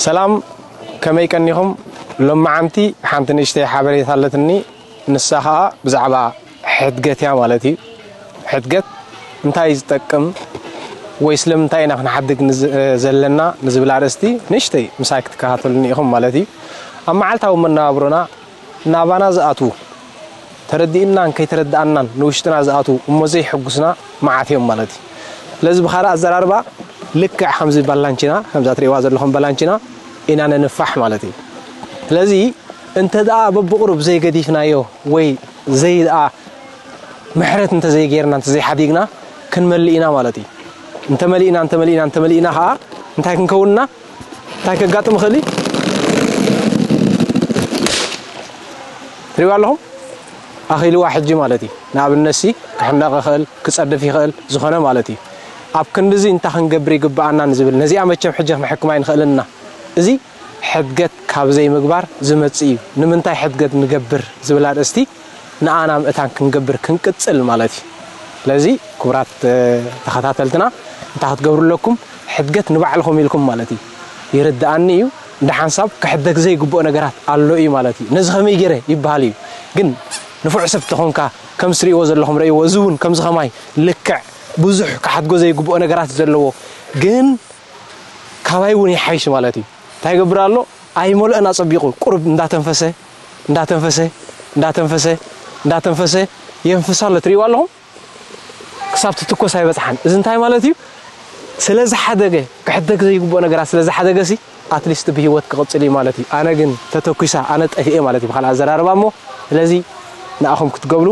ሰላም፣ ከመይ ቀኒኹም? ሎማዓንቲ ሓንቲ ንእሽተይ ሓበሬታ ኣለትኒ። ንሳ ኸኣ ብዛዕባ ሕድገት እያ ማለት እዩ። ሕድገት እንታይ እዩ ዝጠቅም ወይ ስለምንታይ ኢና ክንሓድግ ንዝ-፣ ዘለና ንዝብል ኣርእስቲ ንእሽተይ ምሳይ ክትከታተሉኒ ኢኹም ማለት እዩ። ኣብ መዓልታዊ መነባብሮና ናባና ዝኣትዉ፣ ተረዲእናን ከይተረዳእናን ንውሽጥና ዝኣትዉ እሞ ዘይሕጉስና መዓት እዮም ማለት እዩ። ስለዚ ብኻልእ ኣዘራርባ ልክዕ ከምዚ ባላንቺና፣ ከምዛ ትርእይዋ ዘለኹም ባላንቺና ኢና ነንፋሕ ማለት እዩ። ስለዚ እንተ ደኣ በብቕሩብ ዘይገዲፍናዮ ወይ ዘይ ደኣ ምሕረት እንተ ዘይጌርና፣ እንተ ዘይሓዲግና ክንመልእ ኢና ማለት እዩ። እንተመሊእና፣ እንተመሊእና፣ እንተመሊእና ኸዓ እንታይ ክንከውንና? እንታይ ከጋጥም ይኽእል እዩ? ትሪእዋ ኣለኹም? ኣኺልዋ ሕጂ ማለት እዩ። ንኣብነትሲ ክሕነቕ ይኽእል፣ ክጸድፍ ይኽእል፣ ዝኾነ ማለት እዩ። ኣብ ክንድዚ እንታይ ክንገብር ይግብኣና ንዝብል፣ ነዚኣ መቸም ሕጂ ክንሕክማ ኣይንኽእልን ኢና። እዚ ሕድገት ካብ ዘይምግባር ዝመጽእ እዩ። ንምንታይ ሕድገት ንገብር ዝብል ኣርእስቲ ንኣና ምእታን ክንገብር ክንቅጽል ማለት እዩ። ስለዚ ክቡራት፣ እ፣ ተኸታተልትና እንታይ ክትገብሩ ኣለኩም? ሕድገት ንባዕልኹም ኢልኩም ማለት እዩ። ይርድኣኒ እዩ፣ እንደ ሓንሳብ ክሕደግ ዘይግብኦ ነገራት ኣሎ እዩ ማለት እዩ። ነዚ ከመይ ገይረ ይበሃል እዩ። ግን ንፉዕ ሰብ ተኾንካ፣ ከም ትርእይዎ ዘለኹም ረእይዎ፣ እዚ እውን ከምዚ ከማይ ልክዕ ብዙሕ ክሓድጎ ዘይግብኦ ነገራት ዘለዎ፣ ግን ካባይ እውን ይሓይሽ ማለት እዩ። እንታይ ይገብር ኣሎ? ኣይመልኦን ኣጸቢቑ፣ ቁሩብ እንዳተንፈሰ፣ እንዳተንፈሰ፣ እንዳተንፈሰ፣ እንዳተንፈሰ የንፍስ ኣሎ። ትርእይዋ ኣለኹም? ክሳብ ትትኮስ ኣይበጽሓን። እዚ እንታይ ማለት እዩ? ስለ ዝሓደገ፣ ክሕደግ ዘይግብኦ ነገራት ስለ ዝሓደገ ሲ፣ ኣትሊስት ብህይወት ክቕጽል እዩ ማለት እዩ። ኣነ ግን ተተኲሳ፣ ኣነ ጠፊኤ ማለት እዩ ብኻልእ ኣዘራርባ እሞ። ስለዚ ንኣኹም ክትገብሩ፣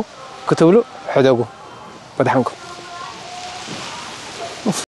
ክትብሉ ሕደጉ። ወድሓንኩም።